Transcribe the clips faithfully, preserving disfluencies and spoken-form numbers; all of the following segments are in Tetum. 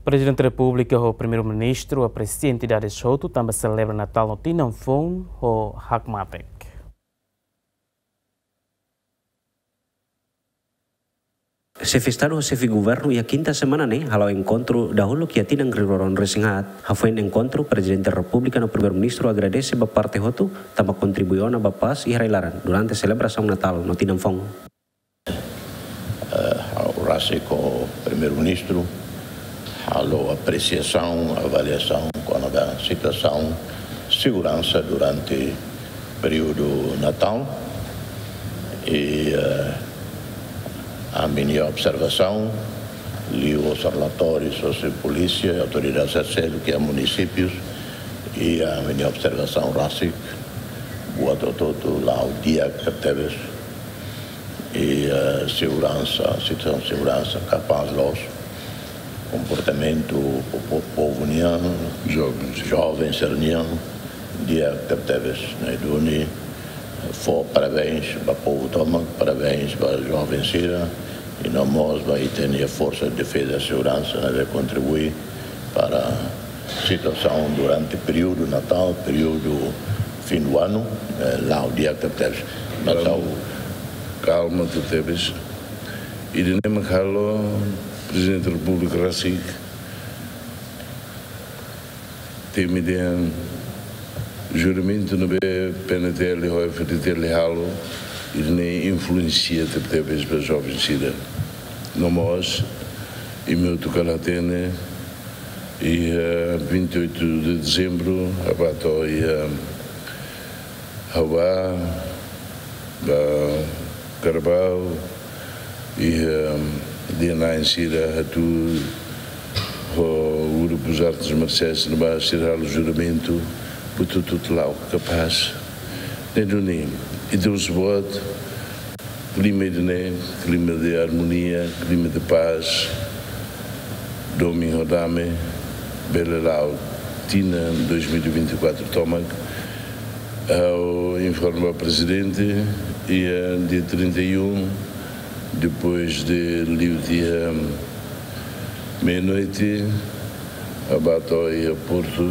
Prezidente Repúblika ho Primeiru-Ministru apresia entidades hotu tanba selebra Natál no tinan foun ho hakmatek. Xefe Estadu ho Xefe Governu iha kinta semana ne'e hala'o enkontru dahuluk iha tinan rihun rua ruanulu-resin-haat. Hafoin enkontru, Prezidente Repúblika no Primeiru-Ministru agradese ba parte hotu tanba kontribui ona ba pás iha rai-laran durante selebrasaun Natál no tinan foun. Eh, ha'u rasik ho Primeiru-Ministru halo apresiasaun, avaliasaun kona-ba situasaun seguransa durante períodu Natál. I, eh, ami-nia observasaun, liuhosi relatóriu husi polísia, autoridades seluk iha munisípius, i ami-nia observasaun rasik, buat hotu-hotu la'o di'ak tebes. I, eh, seguransa, situasaun seguransa kapás loos, komportamentu po-, po-, povu nian, jovens, jovens sira-nian, di'ak tebetebes. Ne'e duni, fó parabéns ba povu tomak, parabéns ba jovens sira, i no mós ba ita-nia Forsa de Defeza i Seguransa, ne'ebé kontribui para situasaun durante períodu Natál, períodu fin do ano, eh, la'o di'ak tebetebes. Natál. Kalma tebetebes. Ida-ne'e mak halo Prezidente Repúblika rasik temi dehan juramentu ne'ebé PNTL ho F-FDTL halo, ida-ne'e influensia tebetebes ba jovens sira. No mós, imi hotu kala hatene, iha vinte e oito de dezembro, ha'u bá to'o iha Hawa, ba Carabao, iha, eh, dehan sira atu ho grupu artes marsiais ne'ebá sira halo juramentu, buat hotu-hotu la'o kapás. Ne'e duni, ita husu buat, klima ida-ne'e, klima de armonia, klima de pás, domin ho dame, bele la'o tinan dois mil e vinte e quatro tomak. Ha'u informa Prezidente, iha dia trinta e um, depois de liu tiha meia-noite, ha'u bá to'o iha Porto,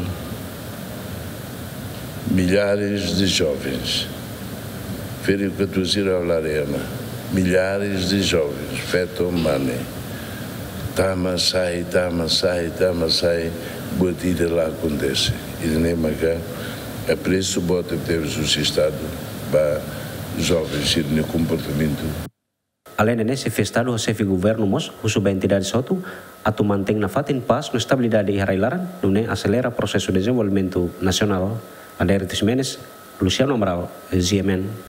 milhares de jovens. Ferik katuas sira ha'u la haree ona. Milhares de jovens, feto, mane. Tama, sai, tama, sai, tama, sai. Buat ida la akontese. Ida-ne'e maka apresu boot tebes husi Estadu ba jovens sira-nia komportamentu. Aleinde ne'e, Xefe Estadu ho Xefe Governu mós husu ba entidades hotu atu mantein nafatin pás no estabilidade iha rai-laran, nune'e aselera prosesu dezenvolvimentu nasionál. Adérito Ximenes, Luciano Amaral, G M N.